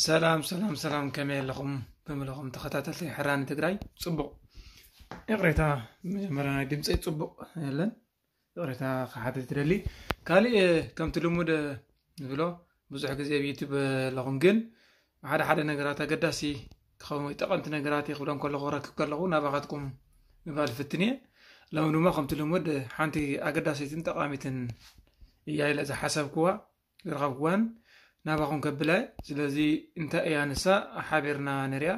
ሰላም ሰላም ሰላም፣ ከመይ ኣለኹም? ብምለኹም ተኸታተልቲ ሕራኒ ትግራይ ጽቡቕ። ይቕሬታ፣ መጀመርያ ናይ ድምፀይ ጽቡቕ የለን፣ ይቕሬታ ክሓትት ይደሊ። ካሊእ፣ ከምቲ ልሙድ ዝብሎ፣ ብዙሕ ግዜ ኣብ ዩቱብ ኣለኹም፣ ግን ሓደ ሓደ ነገራት ኣገዳሲ ክኸውን ወይ ጠቐምቲ ነገራት ክብሎም ከለኹ፣ ክረክብ ከለኹ ናባኻትኩም ምባል ፍትን እየ። ሎሚ ድማ ከምቲ ልሙድ ሓንቲ ኣገዳሲትን ጠቓሚትን እያ ኢለ ዝሓሰብክዋ ዝረኸብክዋን ናባኹም ከብላ። ስለዚ እንታይ እያ ንሳ ሓቢርና ንሪኣ።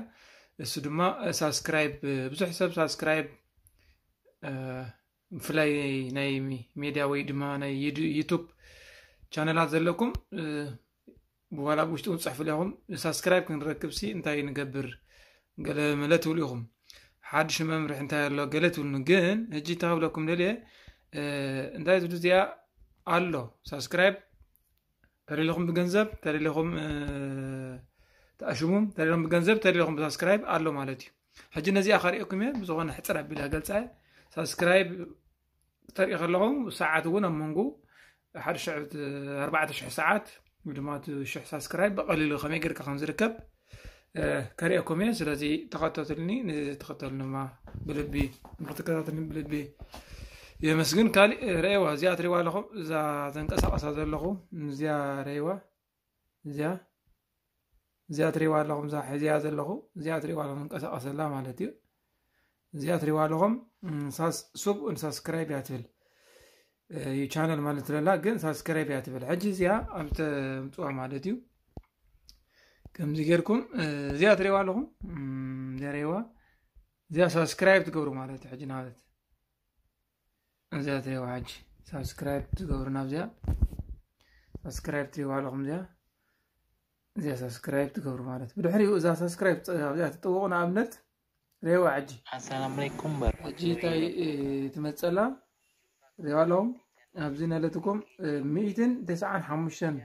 እሱ ድማ ሳብስክራይብ፣ ብዙሕ ሰብ ሳብስክራይብ፣ ብፍላይ ናይ ሜድያ ወይ ድማ ናይ ዩቱብ ቻነላት ዘለኩም፣ ብዋላ ብውሽጢ እውን ፅሕፉ ኢኹም። ሳብስክራይብ ክንረክብ ሲ እንታይ ንገብር ገለ መለ ትብሉ ኢኹም። ሓድሽ መምርሒ እንታይ ኣሎ ገለ ትብሉኒ። ግን ሕጂ እንታይ ክብለኩም ደልየ፣ እንታይ ዝብሉ እዚኣ ኣሎ። ሳብስክራይብ ተደሊኹም ብገንዘብ፣ ተደሊኹም ተኣሽሙም፣ ተደሊኹም ብገንዘብ፣ ተደሊኹም ብሳብስክራይብ ኣሎ ማለት እዩ። ሕጂ ነዚኣ ከርእየኩም እየ። ብዝኾነ ሕፅር ኣቢላ ገልፃ እየ። ሳብስክራይብ ተርኢ ከለኹም ሰዓት እውን ኣብ መንጎ ሓደ ሽሕ፣ ኣርባዕተ ሽሕ ሰዓት ወይ ድማ እቲ ሽሕ ሳብስክራይብ ብቐሊሉ ከመይ ጌርካ ከም ዝርከብ ከርእየኩም እየ። ስለዚ ተኸታተሉኒ። ንተኸተሉኒ ድማ ብልቢ፣ ንክትከታተሉኒ ብልቢ የመስግን። ካሊእ ረእዋ፣ እዚኣ ትሪዋ ኣለኹም፣ እዛ ዘንቀሳቐሳ ዘለኹ፣ እዚኣ ረእዋ፣ እዚኣ እዚኣ ትሪዋ ኣለኹም፣ እዛ ሒዚያ ዘለኹ፣ እዚኣ ትሪዋ ኣለኹም፣ እንቀሳቐሰላ ማለት እዩ። እዚኣ ትሪዋ ኣለኹም፣ ሳብስክራይብ እያ ትብል። ዩ ቻነል ማለት ትለላ፣ ግን ሳብስክራይብ እያ ትብል። ሕጂ እዚኣ ኣብ ተምፅዋ ማለት እዩ። ከምዚ ጌርኩም እዚኣ ትሪዋ ኣለኹም፣ እዚኣ ሪዋ፣ እዚኣ ሳብስክራይብ ትገብሩ ማለት እዩ። ሕጂ ናበት እዚኣ ትሪዋ፣ ሕጂ ሳብስክራይብ ትገብሩ፣ ናብዚኣ ሳብስክራይብ ትሪዋ ኣለኹም። እዚኣ እዚኣ ሳብስክራይብ ትገብሩ ማለት። ብድሕሪኡ እዛ ሳብስክራይብ ኣብዚኣ ትጥውቑ። ንኣብነት ሬዋ ሕጂ ኣሰላም ዓለይኩም በር። ሕጂ እንታይ ትመፀላ? ሬዋ ኣለኹም። ኣብዚ ነለትኩም ሚእትን ተስዓን ሓሙሽተን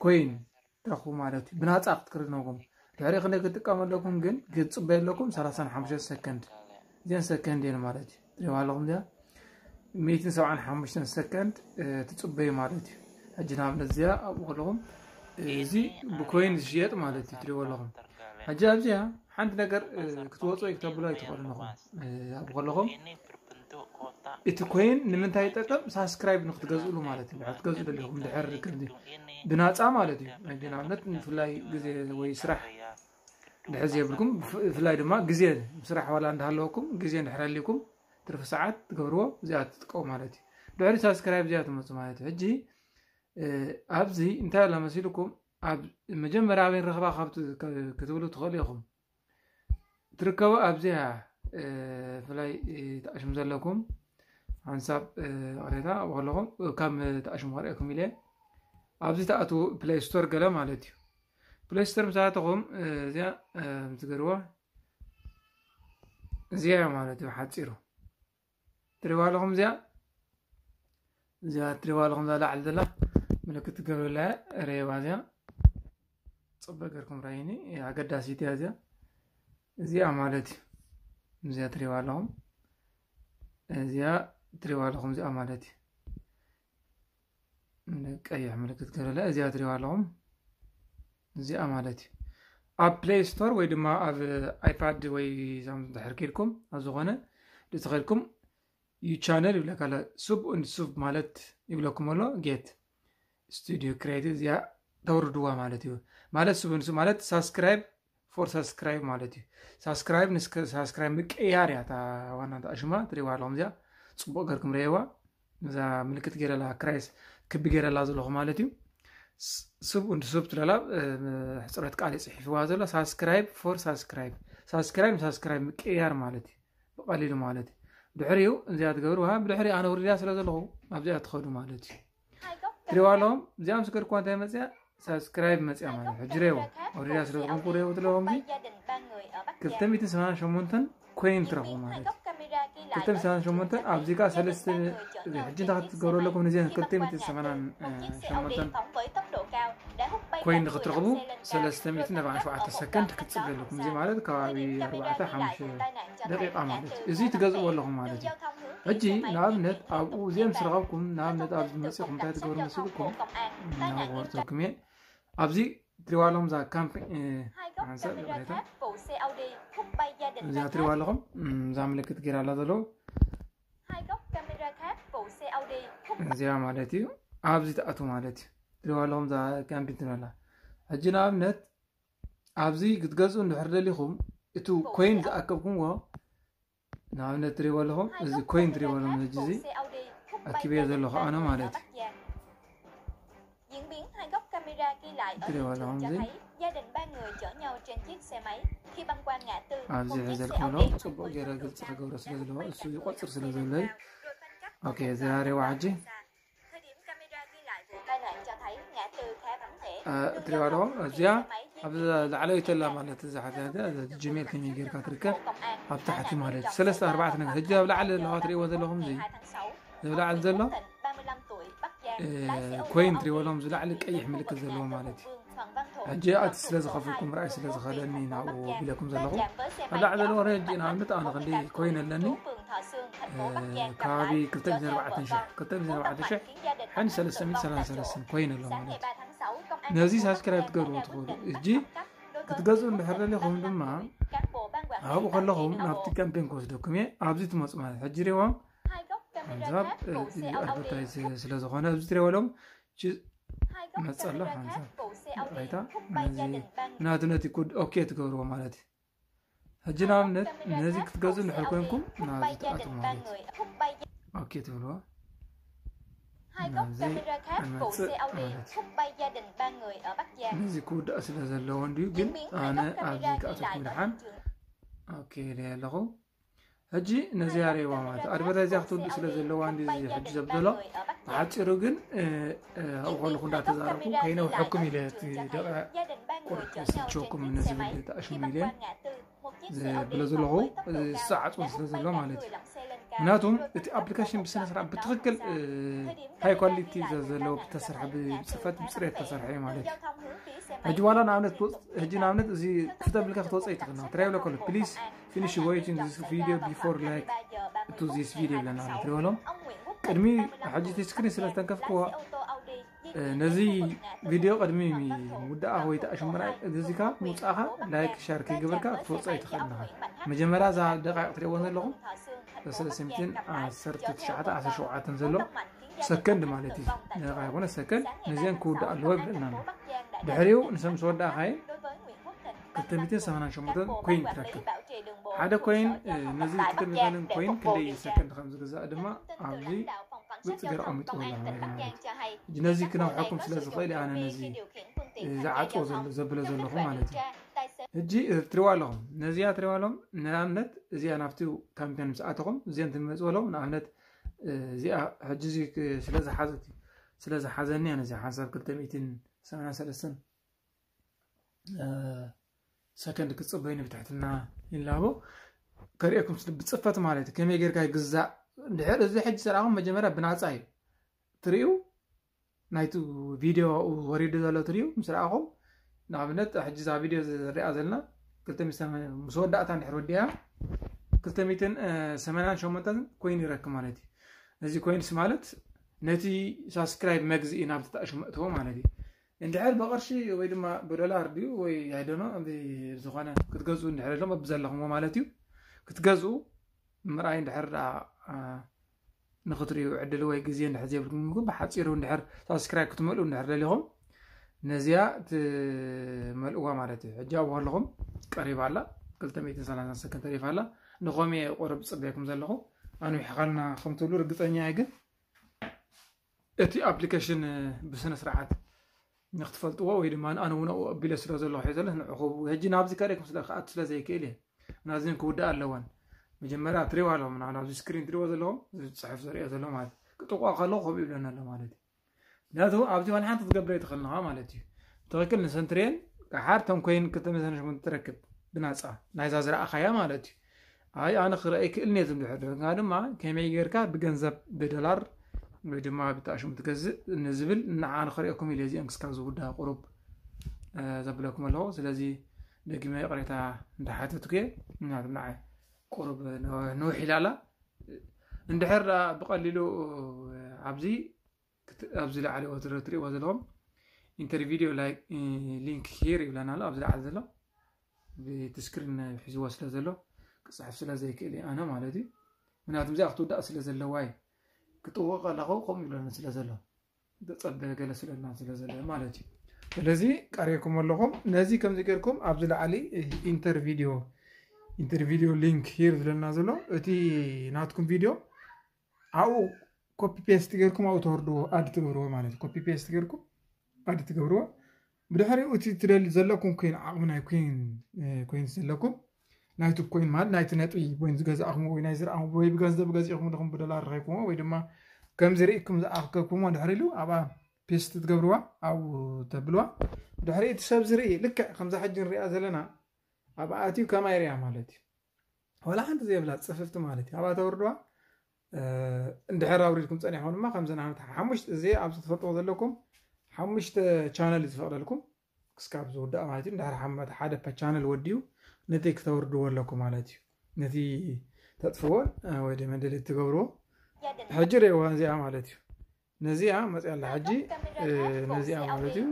ኮይን ትረኽቡ ማለት እዩ። ብናፃ ክትክርነኩም ድሕሪ ክንደይ ክትጥቀሙ ኣለኩም ግን ክትፅበዩ ኣለኩም? ሰላሳን ሓሙሽተን ሰከንድ። እዚአን ሰከንድ እየን ማለት እዩ። ሬዋ ኣለኹም እዚኣ ሚእትን ሰብዓን ሓሙሽተን ሰከንድ ትፅበዩ ማለት እዩ። ሕጂ ንኣብነት እዚኣ ኣብኡ ከለኹም እዚ ብኮይን ዝሽየጥ ማለት እዩ። ትሪእዎ ኣለኹም። ሕጂ ኣብዚኣ ሓንቲ ነገር ክትወፁ ወይ ክተብሉ ኣይትኽእሉ ኣለኹም። ኣብኡ ከለኹም እቲ ኮይን ንምንታይ ይጠቅም? ሳብስክራይብ ንክትገዝእሉ ማለት እዩ። ክትገዝኡ ደሊኹም ድሕር ከምዚ ብናፃ ማለት እዩ። ሕጂ ንኣብነት ብፍላይ ግዜ ወይ ስራሕ ድሕር ዘይብልኩም ብፍላይ ድማ ግዜ ስራሕ ዋላ እንዳሃለወኩም ግዜ እንድሕር ኣልኩም ትርፊ ሰዓት ትገብርዎ እዚኣ ትጥቀሙ ማለት እዩ። ድሕሪ ሳብስክራይብ እዚኣ ትመፁ ማለት እዩ። ሕጂ ኣብዚ እንታይ ኣላ መሲልኩም ኣብ መጀመርያ ኣበይ ንረኽባ ካብ ክትብሉ ትኽእሉ ኢኹም። ትርከቡ ኣብዚኣ ብፍላይ ተኣሽሙ ዘለኩም ሓንሳብ ቅሬታ ኣብኡ ከለኹም ካብ ተኣሽሙ ከርእየኩም ኢለ ኣብዚ ተኣትዉ ፕሌይ ስቶር ገለ ማለት እዩ። ፕሌይ ስቶር ምስ ኣተኹም እዚኣ ትገርዋ እዚኣ ማለት እዩ ሓፂሩ ትሪዋ ኣለኹም። እዚኣ እዚኣ ትሪዋ ኣለኹም እዛ ላዕሊ ዘላ ምልክት ትገብረላ እያ። ረየዋ እዚኣ ፅበ ገርኩም ራይኒ ኣገዳሲት እያ እዚኣ። እዚኣ ማለት እዩ እዚኣ ትሪዋ ኣለኹም። እዚኣ ትሪዋ ኣለኹም እዚኣ ማለት እዩ ቀይሕ ምልክት ገለለ እዚኣ ትሪዋ ኣለኹም። እዚኣ ማለት እዩ ኣብ ፕሌይ ስቶር ወይ ድማ ኣብ ኣይፓድ ወይ ዛም ድሕር ኬድኩም ኣብ ዝኾነ ድተኸልኩም ዩ ቻነል ይብለካ ኣሎ። ሱብ እንድ ሱብ ማለት ይብለኩም ኣሎ። ጌት ስቱዲዮ ክሬቲቭ እዚኣ ተውርድዋ ማለት እዩ። ማለት ሱብ እንድ ሱብ ማለት ሳብስክራይብ ፎር ሳብስክራይብ ማለት እዩ። ሳብስክራይብ ንሳብስክራይብ ምቅያር እያ እታ ዋና ተኣሽማ ትሪዋ ኣለኹም። እዚኣ ፅቡቅ ገርኩም ረየዋ። እዛ ምልክት ገይረላ ክራይስ ክቢ ገይረላ ዘለኹ ማለት እዩ። ሱብ እንድ ሱብ ትለላ ሕፅረት ቃል ፅሒፍዋ ዘሎ ሳብስክራይብ ፎር ሳብስክራይብ ሳብስክራይብ ሳብስክራይብ ምቅያር ማለት እዩ። ብቐሊሉ ማለት እዩ። ድሕሪኡ እዚኣ ትገብርዋ ብድሕሪ ኣነ ውርድያ ስለ ዘለኹ ኣብዚኣ ትኸዱ ማለት እዩ። ትሪዋ ኣለኹም እዚኣ ምስ ገድኩዋ እንታይ መፅያ ሳብስክራይብ መፅያ ማለት ሕጂ ሬዎ ወሪዳ ስለ ዝኾንኩ ሬዎ ትለዎም ክልተ ሚእትን ሰማንያን ሸሞንተን ኮይን ትረኽቡ ማለት እዩ። ክልተ ሚእትን ሰማንያን ሸሞንተን ኣብዚ ከዓ ሰለስተ ሕጂ እንታይ ክትገብሩ ኣለኩም? ነዚአን ክልተ ሚእትን ሰማንያን ሸሞንተን ኮይን ንክትረኽቡ ሰለስተ ሚእትን ኣርባዓን ሸውዓተ ሰከንድ ክትፅበ ኣለኩም። እዚ ማለት ከባቢ ኣርባዕተ ሓሙሽተ ደቂቃ ማለት እዩ። እዚ ትገዝእዎ ኣለኹም ማለት እዩ። ሕጂ ንኣብነት ኣብኡ እዚኦም ስረኸብኩም ንኣብነት ኣብዚ መፂኹም እንታይ ትገብሩ መስልኩም ናወርተኩም እየ ኣብዚ ትሪዋ ኣለኹም እዛ ካምፕ ሓንሳብ ይቕሬታ እዚኣ ትሪዋ ኣለኹም እዛ ምልክት ገይራ ኣላ ዘለዉ እዚኣ ማለት እዩ ኣብዚ ትኣቱ ማለት እዩ ትሪዋ ኣለኹም እዛ ካምፕ ትበላ ሕጂ ንኣብነት ኣብዚ ክትገዝኡ እንድሕር ደሊኹም እቲ ኮይን ዝኣከብኩምዎ ንኣብነት ትሪእዎ ኣለኹም እዚ ኮይን ትሪእዎ ኣለኹም ሕጂ እዚ ኣኪበዮ ዘለኹ ኣነ ማለት እዩ ትሪእዎ ኣለኹም እዚ ኣብዚ ሕዘልኩም ኣለኹም ፅቡቅ ገይረ ግልፂ ክገብሮ ስለ ዘለዎ እሱ ይቆፅር ስለ ዘለዩ ኦኬ ዘያሬዋ ሕጂ እትሪዋ ኣለኹም እዚኣ ኣብ ላዕለወይቲ ኣላ ማለት እዛ ሓዛ ጂሜል ከመይ ጌርካ ትርከብ ኣብ ታሕቲ ማለት እዩ ሰለስተ ኣርባዕተ ነገር ሕጂ ኣብ ላዕሊ ዘለዋ ትሪእዎ ዘለኹም እዚ ዝብላዕል ዘሎ ኮይን ትሪእዎ ኣለኹም ዝላዕሊ ቀይሕ ምልክት ዘለዎ ማለት እዩ ሕጂ ኣቲ ስለ ዝኸፍልኩም ርኣይ ስለ ዝኸለኒ ናብኡ ቢለኩም ዘለኹ ኣብ ላዕሊ ዘለዎ ሕጂ ንኣብነት ኣነ ክንዲ ኮይን ኣለኒ ከባቢ ክልተ ሚእትን ኣርባዕተን ሽሕ ክልተ ሚእትን ኣርባዕተን ሽሕ ሓንቲ ሰለስተ ሚእትን ሰላሳ ሰለስተን ኮይን ኣሎ ማለት እዩ ነዚ ሳብስክራይብ ትገብርዎ ትኽእሉ እጂ ክትገዝኡ እንድሕር ደሊኹም ድማ ኣብኡ ከለኹም ናብቲ ካምፔን ክወስደኩም እየ ኣብዚ ትመፁ ማለት ሕጂ ሪዎም ሓንሳብ ኣድቨርታይዝ ስለ ዝኾነ ኣብዚ ትሪእዎ ኣለኹም መፀሎ ሓንሳብ ይቕሬታ ነዚ ናቱ ነቲ ኩድ ኦኬ ትገብርዎ ማለት እዩ ሕጂ ንኣብነት ነዚ ክትገዝኡ እንድሕር ኮንኩም ናዚ ትኣትዉ ማለት እዩ ኦኬ ትብልዎ ነዚ ክውዳእ ስለ ዘለዎ እንድዩ ግን ኣነ ኣብዚ ክኣተኩም ድሓን ኦኬ ኢለ ኣለኹ ሕጂ ነዚኣ ርእይዋ ማለት ኣድቨርታይዝ ክትውድእ ስለ ዘለዋ እንዲ ሕጂ ዘብዘሎ ብሓፂሩ ግን ኣብኡ ከለኹ እንዳተዛረብኩ ከይነውሐኩም ኢለ እቲ ደቂቕ ቁርጥ ስልቸኩም ነዚ ዝብል ተኣሽሙ ኢለ ዘብሎ ዘለኹ ዝሰዓፅዎ ስለ ዘሎ ማለት እዩ ምክንያቱም እቲ ኣፕሊኬሽን ብስነ ስርዓት ብትክክል ሃይ ኳሊቲ ዘለዎ ዝተሰርሐ ብፅፈት ብፅሬት ዝተሰርሐ እዩ ማለት እዩ ሕጂ ዋላ ንኣብነት ሕጂ ንኣብነት እዚ ክፍተብልካ ክትወፀ ይትኽእል ትራይ ብሎ ከሎ ፕሊስ finish watching this video before like to this video ብለና ትሪበሎም ቅድሚ ሕጂ እቲ ስክሪን ስለ ዝተንከፍክዎ ነዚ ቪድዮ ቅድሚ ምውዳእኻ ወይ ተኣሽምራይ እዚካ ምውፃእኻ ላይክ ሻር ከይገበርካ ክትወፅኦ ይትኽእል ኣለኻ መጀመርያ እዛ ደቃይቕ ትሪእዎ ዘለኹም ሰለስተ ሚእትን ዓሰርተ ትሽዓተ ዓሰርተ ሸውዓተን ዘሎ ሰከንድ ማለት እዩ ደቃ ይኮነ ሰከንድ ነዚአን ክውዳእ ኣለዎ ይብለና ኣሎ ድሕሪኡ ንሰብ ምስ ወዳእኻየ ክልተ ሚእትን ሰማንያን ሸሞንተ ኮይን ትረክብ ሓደ ኮይን ነዚ ክልተ ሚእትን ኮይን ክንደይ ሰከንድ ከም ዝግዛእ ድማ ኣብዚ ብፅገር ኣሚጥዎ ኣሎ ማለት እዩ ነዚ ክነውሐኩም ስለ ዝኽእል ኣነ ነዚ ዝዓፅዎ ዘሎ ዘብሎ ዘለኹ ማለት እዩ ሕጂ ትሪዋ ኣለኹም ነዚኣ ትሪዋ ኣለኹም ንኣብነት እዚኣ ናብቲ ካምፔን ምስ ኣተኹም እዚአን ትመፅዎ ኣለኹም ንኣብነት እዚኣ ሕጂ እዚ ስለ ዝሓዘት እዩ ስለ ዝሓዘኒ ነዚ ሓንሳብ ክልተ ሚእትን ሰማንያን ሰለስተን ሰከንድ ክፅበዩኒ ብትሕትና ይላቦ ከርእየኩም ብፅፈት ማለት እዩ ከመይ ጌርካ ይግዛእ ድሕር እዚ ሕጂ ዝረኣኹም መጀመርያ ብናፃ እዩ ትርእዩ ናይቲ ቪድዮ ወሪዱ ዘሎ ትርእዩ ምስ ረኣኹም ንኣብነት ሕጂ እዛ ቪድዮ ዝሪኣ ዘለና ምስ ወዳእታ እንድሕር ወዲኣ ክልተ ሚእትን ሰማንያን ሸሞንተን ኮይን ይረክብ ማለት እዩ ነዚ ኮይንስ ማለት ነቲ ሳብስክራይብ መግዝኢ ናብ ተጣእሹ መእትዎ ማለት እዩ እንድሕር ብቕርሺ ወይ ድማ ብዶላር ድዩ ወይ ኣይደኖ ዝኾነ ክትገዝኡ እንድሕር ሎም ኣብዘለኹምዎ ማለት እዩ ክትገዝኡ ምርኣይ እንድሕር ንክትሪኡ ዕድል ወይ ግዜ እንድሕር ዘይብልኩም ብሓፂሩ እንድሕር ሳብስክራይብ ክትመልኡ እንድሕር ደሊኹም ነዚኣ ትመልእዋ ማለት እዩ ሕጂ ኣብኡ ከለኹም ቀሪባ ኣላ ክልተ ሚእትን ሰላሳን ሰከንድ ተሪፋ ኣላ ንኸምየ ቆረብ ዝፅበየኩም ዘለኹ ኣንዊሕኻልና ከም ትብሉ ርግፀኛ እየ ግን እቲ ኣፕሊኬሽን ብስነ ስርዓት ንክትፈልጥዎ ወይ ድማ ኣነ እውን ኣብኡ ኣቢለ ስለ ዘለኹ ሒዘለ ንዕኹ ሕጂ ናብዚ ከርእኩም ስለ ክኣቱ ስለ ዘይክእል እየ ናዚን ክውዳእ ኣለወን መጀመርያ ትሪዋ ኣለኹም ናብዚ ስክሪን ትሪዎ ዘለኹም ዝፅሕፍ ዘርእዮ ዘሎ ማለት ክጥቋ ከለኹ ከምኡ ይብለና ኣሎ ማለት እዩ ምክንያቱ ኣብዚ ዋላ ሓንቲ ትገብረ ይትኽእልንኻ ማለት እዩ ብትኽክል ንሰንትሬን ሓር ተንኮይን ክልተ ሚእትን ሸሞንተ ትረክብ ብናፃ ናይዛ ዝረኣኻያ ማለት እዩ ኣይ ኣነ ክረአ ይክእልኒ እየ ዝብል ድሕር ግን ድማ ከመይ ጌርካ ብገንዘብ ብዶላር ወይ ድማ ብተኣሽሙ ትገዝእ ንዝብል ንዓ ንክርእየኩም ኢለ እዚኦም ክስካብ ዝውዳ ቁሩብ ዘብለኩም ኣለኹ ስለዚ ደጊመ ይቕሬታ እንዳሓተትኩ እየ ምክንያቱም ንዓይ ቁሩብ ንውሕ ኢላላ እንድሕር ብቐሊሉ ኣብዚ ኣብዚ ላዕሊ ወትረ ትሪእዎ ዘለኹም Enter video link here ይብለና ኣሎ ኣብዚ ላዕሊ ዘሎ። ብቲ ስክሪን ሒዝዎ ስለ ዘሎ ክፅሕፍ ስለ ዘይክእል እየ ኣነ ማለት እዩ። ምክንያቱም እዚኣ ክትውዳእ ስለ ዘለዋ እዩ። ክጥውቕ ከለኹ ከምኡ ይብለኒ ስለ ዘሎ፣ ተፀበ ገለ ስለልና ስለ ዘሎ ማለት እዩ። ስለዚ ቀሪእኩም ኣለኹም። ነዚ ከምዚ ጌርኩም ኣብዚ ላዕሊ ኢንተር ቪዲዮ፣ ኢንተር ቪዲዮ ሊንክ ሂር ዝለና ዘሎ፣ እቲ ናትኩም ቪዲዮ ኣብኡ ኮፒ ፔስት ጌርኩም ኣብኡ ተወርድዎ፣ ኣድ ትገብርዎ ማለት እዩ። ኮፒ ፔስት ጌርኩም ኣድ ትገብርዎ። ብድሕሪኡ እቲ ትደሊ ዘለኩም ኮይን፣ ዓቕሚ ናይ ኮይን፣ ኮይን ዘለኩም፣ ናይ ዩቱብ ኮይን ማለት ናይቲ ነጥቢ ኮይን ዝገዛእኹም ወይ ናይ ዝረኣኹም ወይ ብገንዘብ ገዚእኹም ዲኹም ብዶላር ረኺብኩሞ ወይ ድማ ከምዚ ርኢኩም ዝኣኸብኩሞ ድሕሪ ኢሉ ኣብኣ ፔስት ትገብርዋ፣ ኣብኡ ተብልዋ። ድሕሪ እቲ ሰብ ዝርኢ ልክዕ ከምዛ ሕጂ ንሪኣ ዘለና ኣብኣ ኣትዩ ከማይ ርያ ማለት እዩ። ዋላ ሓንቲ ዘየብላ ጽፍፍቲ ማለት እዩ። ኣብኣ ተወርድዋ። እንድሕር ኣውሪድኩም ጸኒሕኩም ድማ ከምዚ ንኣብነት ሓሙሽተ፣ እዚ ኣብዚ ትፈልጥዎ ዘለኩም ሓሙሽተ ቻነል እዩ ዝፈቕደልኩም ክስካብ ዝውዳእ ማለት እዩ። እንድሕር ሓመት ሓደ ቻነል ወዲኡ ነቲ ክተውርድዎ ኣለኩም ማለት እዩ። ነቲ ተጥፍዎን ወይ ድማ ደሊት ትገብርዎ። ሕጂ ርእይዋ እዚኣ ማለት እዩ። ነዚኣ መፅያ ኣላ ሕጂ፣ ነዚኣ ማለት እዩ።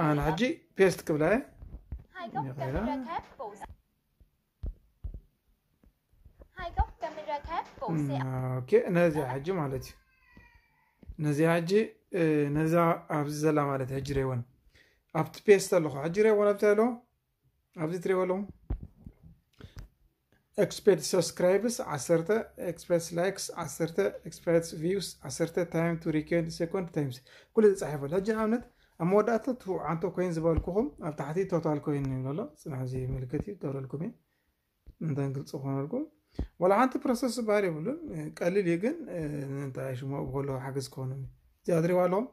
ኣነ ሕጂ ፔስት ክብላ እየ። ኦኬ፣ ነዚኣ ሕጂ ማለት እዩ። ነዚኣ ሕጂ፣ ነዛ ኣብዚ ዘላ ማለት ሕጂ ሬወን ኣብቲ ፔስት ኣለኹ። ሕጂ ሬወን ኣብቲ ኣሎ፣ ኣብዚ ትሪእዎ ኣለኹም። ኤክስፔክት ሰብስክራይብስ ዓሰርተ፣ ኤክስፔክት ላይክስ ዓሰርተ፣ ኤክስፔክት ቪውስ ዓሰርተ፣ ታይም ቱ ሪኬንድ ሰኮንድ ታይምስ፣ ኩሉ ተጻሒፉ ኣሎ። ሕጂ ንኣብነት ኣብ መወዳእታ ትውዓንቶ ኮይን ዝበልኩኹም ኣብ ታሕቲ ቶታል ኮይን ይብል ኣሎ። ጽናሕ እዚ ምልክት እዩ፣ ገብረልኩም እየ። እንታይ ግልፂ ክኾነልኩም፣ ዋላ ሓንቲ ፕሮሰስ ዝበሃል የብሉን። ቀሊል እዩ ግን፣ እንታይ ሽሙ ኣብኡ ከለዉ ሓገዝ ክኾኑ። እዚኣ ትሪእዋ ኣለኹም።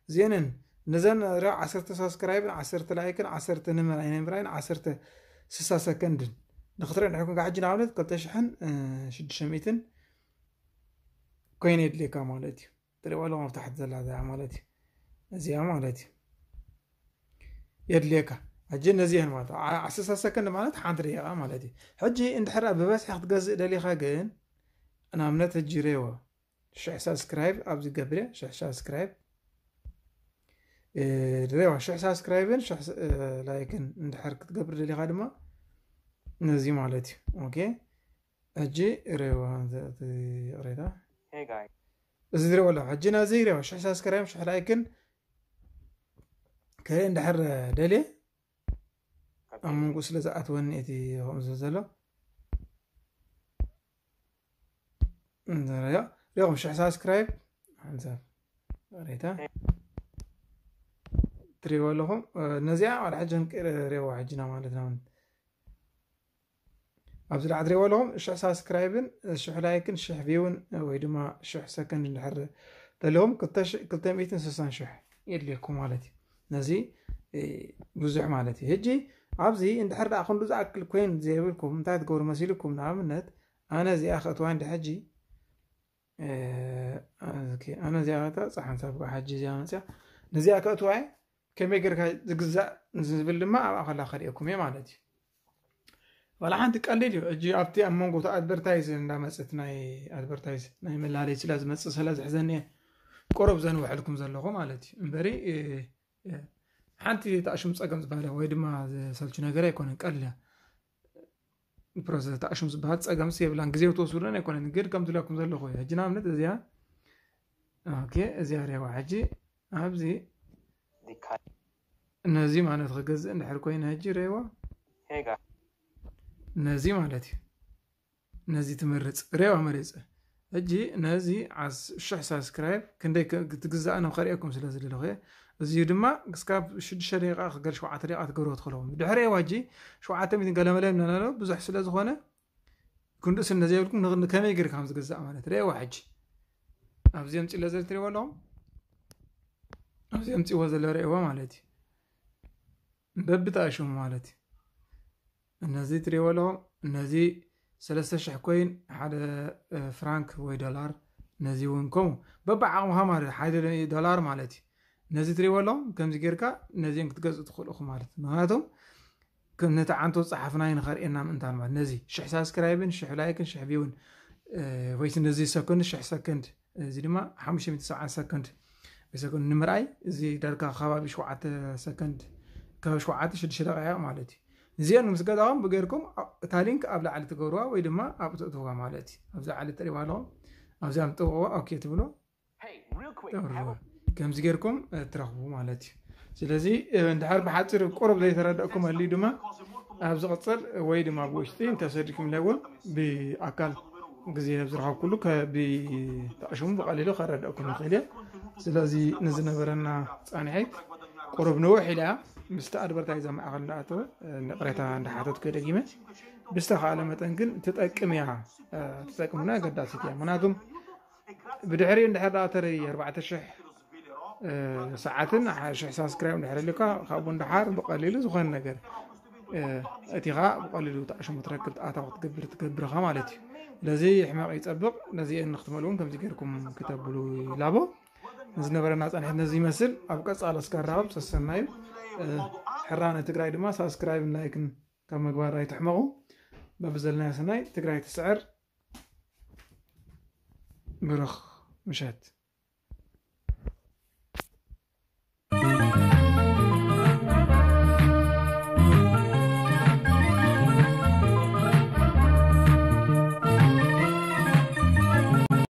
እዚአንን ነዘን ሪኣ ዓሰርተ ሳብስክራይብን ዓሰርተ ላይክን ዓሰርተ ንምራይ ንምራይን ዓሰርተ ስሳ ሰከንድን ንክትርኢ ንሕኩም ካብ ሕጂ ንኣብነት ክልተ ሽሕን ሽዱሽተ ሚእትን ኮይን የድልየካ ማለት እዩ። ትሪእዋ ኣለኹም ኣብ ታሕቲ ዘላ እዚኣ ማለት እዩ። እዚኣ ማለት እዩ የድልየካ። ሕጂ ነዚአን ማለት ዓ-፣ ዓሰርተ ሰከንድ ማለት ሓንቲ ደቂቓ ማለት እዩ። ሕጂ እንድሕር ብበዝሒ ክትገዝእ ደሊኻ ግን ንኣብነት ሕጂ ሬዎ ሽሕ ሳብስክራይብ ኣብዚ ገብርያ ሽሕ ሳብስክራይብ፣ እ፣ ሬዋ ሽሕ ሳብስክራይብን ሽሕ ስ-፣ እ፣ ላይክን እንድሕር ክትገብር ደሊኻ ድማ ነዚ ማለት እዩ። ኦኬ፣ ሕጂ ሬዋ ዘ-፣ እቲ ይቕሬታ። Hey guys። እዚ ዝሬዋ ኣለኹ። ሕጂ ነዚ ሬዋ ሽሕ ሳብስክራይብን ሽሕ ላይክን ከ እንድሕር ደልየ ኣብ መንጎ ስለ ዝኣትወኒ እቲ ከምኡ ዝብል ዘሎ። እንተ ሪኦ-፣ ሪኦም ሽሕ ሳብስክራይብ ሓንሳብ ሬታ ትሪእዎ ኣለኹም። ነዚኣ ዋላ ሕጂ ክንቅይር ሪእዋ ሕጂና ማለት ነው። ኣብዚ ላዕሊ ትሪእዎ ኣለኹም ሽሕ ሳብስክራይብን ሽሕ ላይክን ሽሕ ቪውን ወይ ድማ ሽሕ ሰከንድ እንድሕር ዘለኹም ክልተ ሽ-፣ ክልተ ሚእትን ስሳን ሽሕ የድልየኩም ማለት እዩ። ነዚ፣ እ፣ ብዙሕ ማለት እዩ። ሕጂ ኣብዚ እንድሕር ደኣ ክንዱ ዝኣክል ኮይን ዘይብልኩም እንታይ ትገብሩ መሲልኩም? ንኣብነት ኣነ እዚኣ ከእትዋ እንዲ ሕጂ፣ እ፣ ኦኬ፣ ኣነ እዚኣ ከእትዋ፣ ጻሕ ሓንሳብ ከኣ ሕጂ እዚኣ መጽያ፣ ነዚኣ ከእትዋ እየ። ከመይ ጌርካ ዝግዛእ ዝብል ድማ ኣብኣ ከላ ከርእየኩም እየ ማለት እዩ። ዋላ ሓንቲ ቀሊል እዩ። ሕጂ ኣብቲ ኣብ መንጎ እቲ ኣድቨርታይዝ እንዳመጽት ናይ ኣድቨርታይዝ ናይ መላለይ ስለ ዝመጽእ ስለ ዝሕዘኒ እየ ቁሩብ ዘንውሐልኩም ዘለኹ ማለት እዩ። እምበሪ፣ እ፣ እ፣ ሓንቲ ተኣሽሙ ጸገም ዝበሃለ ወይ ድማ ዘሰልቹ ነገር ኣይኮነን፣ ቀሊል እያ። ፕሮሰስ ተኣሽሙ ዝበሃል ጸገምስ የብላን። ግዜ ክትወስዱን ኣይኮነን፣ ግን ከም ዝብለኩም ዘለኹ እዩ። ሕጂ ንኣብነት እዚኣ፣ ኦኬ፣ እዚኣ ሪእዋ። ሕጂ ኣብዚ ነዚ ማለት ክገዝእ እንድሕር ኮይነ ሕጂ ሪእዋ። Hey guys። ነዚ ማለት እዩ። ነዚ ትመርጽ፣ ሬዋ መሪጸ። ሕጂ ነዚ ዓስ-፣ ሽሕ ሳብስክራይብ ክንደይ ከ-፣ ክትግዛእ ነው ከርእየኩም ስለ ዝደለኹ እየ። እዚ ድማ ክስካብ ሽዱሽተ ደቂቃ ክገል ሸውዓተ ደቂቃ ትገብርዎ ትኽእልዎ። ድሕሪ ሬዋ ሕጂ ሸውዓተ ሚእትን ገለ መለ ምናምን ኣሎ፣ ብዙሕ ስለ ዝኾነ ክንድኡ ስለ ዘይብልኩም ን-፣ ከመይ ጌርካ ከም ዝግዛእ ማለት ሬዋ ሕጂ ኣብዚ ኣምጺእለ ዘለ ትሪእዎ ኣለኹም። ኣብዚ ኣምጺእዎ ዘለ ሬዋ ማለት እዩ። በብጣሽሙ ማለት እዩ። እነዚ ትሪእዎ ኣለኹም፣ እነዚ ሰለስተ ሽሕ ኮይን፣ ሓደ፣ እ፣ ፍራንክ ወይ ዶላር፣ ነዚ እውን ከምኡ በብዓቕምኻ ማለት ሓደ ዶላር ማለት እዩ። ነዚ ትሪእዎ ኣለኹም፣ ከምዚ ጌርካ ነዚኦም ክትገዝኡ ትኽእሉ ኢኹም ማለት እዩ። ምኽንያቱም ከም ነቲ ዓንቶ ጸሓፍና እዩ ንኸርእየና ምእንታን ማለት ነዚ ሽሕ ሳብስክራይብን ሽሕ ላይክን ሽሕ ቪውን፣ እ፣ ወይስ ነዚ ሰኮንድ ሽሕ ሰኮንድ፣ እዚ ድማ ሓሙሽተ ሚእቲ ሰብዓን ሰኮንድ ብሰኮንድ ንምርኣይ እዚ ዳርጋ ከባቢ ሸውዓተ ሰከንድ፣ ከባቢ ሸውዓተ ሽዱሽተ ደቂቃ ማለት እዩ። እዚአን ምስ ገዛኹም ብገይርኩም እታ ሊንክ ኣብ ላዕሊ ትገብርዋ ወይ ድማ ኣብ ትእትዋ ማለት እዩ። ኣብዚ ላዕሊ ትሪእዋ ኣለኹም፣ ኣብዚኣ ምጥውቕዋ ኦኬ ትብሎ። ተብርዋ ከምዚ ጌርኩም ትረኽቡ ማለት እዩ። ስለዚ እንድሕር ብሓፂር ቁሩብ ዘይተረደእኩም ኣልዩ ድማ ኣብ ዝቕፅል ወይ ድማ ብውሽጢ እንተሰዲድኩም ኢለ እውን ብኣካል ግዜ ኣብ ዝረኸብኩሉ ከብተዕሽሙ ብቐሊሉ ከረደእኩም ይኽእል እየ። ስለዚ ንዝነበረና ፃንሒት ቁሩብ ንውሕ ኢላ ምስቲ ኣድቨርታይዝ ኣብ ማእኸል እንዳኣተወ ንቕሬታ እንዳሓተትኩ ደጊመ ብዝተኻእለ መጠን ግን ትጠቅም እያ። ትጠቅምና ኣገዳሲት እያ። ምክንያቱም ብድሕሪ እንድሕር ዳኣ ተረይ ኣርባዕተ ሽሕ ሰዓትን ሽሕ ሳብስክራይብ እንድሕር ልካ ካብኡ እንድሓር ብቐሊሉ ዝኾነ ነገር እቲ ኻ ብቐሊሉ ተዕሽሙ ትረክብ ኣታዊ ክትገብር ትገብርኻ ማለት እዩ። ስለዚ ሕመቕ ይፀብቕ። ነዚአን ንክትመልኡን ከምዚ ገይርኩም ክተብሉ ይላቦ። ንዝነበረና ፃንሒት ነዚ ይመስል። ኣብ ቀፃሎ እስከራኸብ ሰሰናዩ ሕራነ ትግራይ ድማ ሳብስክራይብን ላይክን ካብ ምግባር ኣይትሕመቑ። በብዘለናዮ ሰናይ ትግራይ ትስዕር። ብሩኽ ምሸት።